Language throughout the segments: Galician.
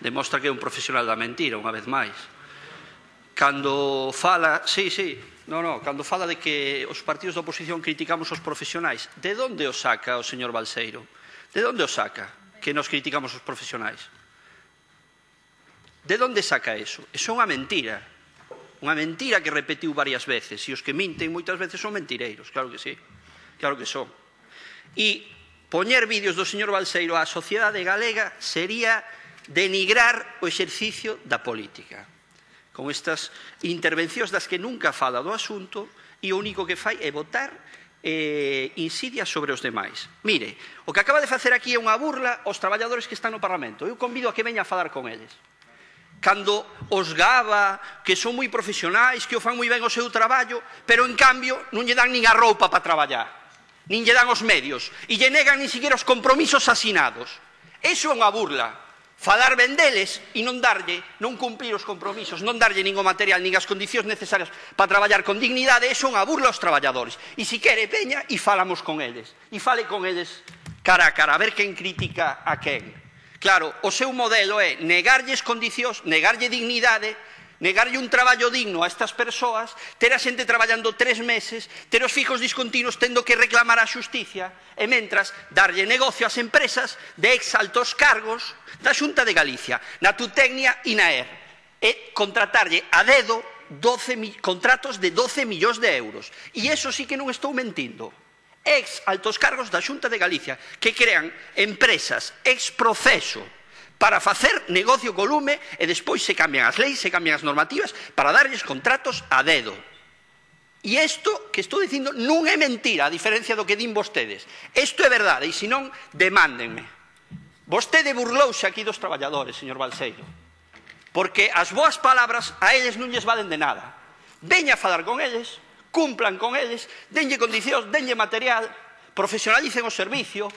demostra que é un profesional da mentira, unha vez máis. Cando fala, cando fala de que os partidos da oposición criticamos os profesionais, de onde o saca o señor Balseiro? De onde o saca que nos criticamos os profesionais? De onde saca eso? Eso é unha mentira que repetiu varias veces, e os que minten moitas veces son mentireiros, claro que sí, claro que son. E poñer vídeos do señor Balseiro á sociedade galega sería denigrar o exercicio da política, con estas intervencións das que nunca fala do asunto e o único que fai é botar insidias sobre os demais. Mire, o que acaba de facer aquí é unha burla aos traballadores que están no Parlamento. Eu convido a que veña a falar con eles. Cando os gaba, que son moi profesionais, que o fan moi ben o seu traballo, pero en cambio non lle dan nin a roupa para traballar, nin lle dan os medios, e lle negan nin siquiera os compromisos asinados. Eso é unha burla. Falar ben deles e non cumplir os compromisos, non darlle nin o material, nin as condicións necesarias para traballar con dignidade, eso é unha burla aos traballadores. E se quere, veña e falamos con eles. E fale con eles cara a cara, a ver quen critica a quen. Claro, o seu modelo é negarlles condicións, negarlle dignidade, negarlle un traballo digno a estas persoas, ter a xente traballando 3 meses, ter os fijos discontinuos tendo que reclamar a xusticia, e mentras darlle negocio ás empresas de ex altos cargos da Xunta de Galicia, na Tutecnia e na ER, e contratarlle a dedo contratos de 12 millóns de euros. E iso sí que non estou mentindo. Ex altos cargos da Xunta de Galicia que crean empresas ex proceso para facer negocio co lume e despois se cambian as leis, se cambian as normativas para darlles contratos a dedo. E isto que estou dicindo non é mentira, a diferencia do que din vostedes. Isto é verdade, e senón, demándenme. Vostede burlouse aquí dos traballadores, señor Balseiro, porque as boas palabras a eles non lles valen de nada. Veña a falar con eles, cumplan con eles, denlle condicións, denlle material, profesionalicen o servicio,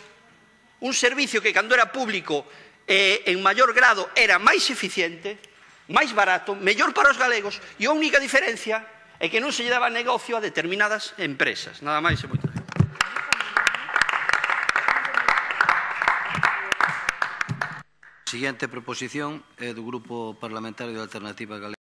un servicio que cando era público en maior grado era máis eficiente, máis barato, mellor para os galegos, e a única diferencia é que non se lle daba negocio a determinadas empresas. Nada máis e moitas gracias. Siguiente proposición é do Grupo Parlamentario de Alternativa Galega.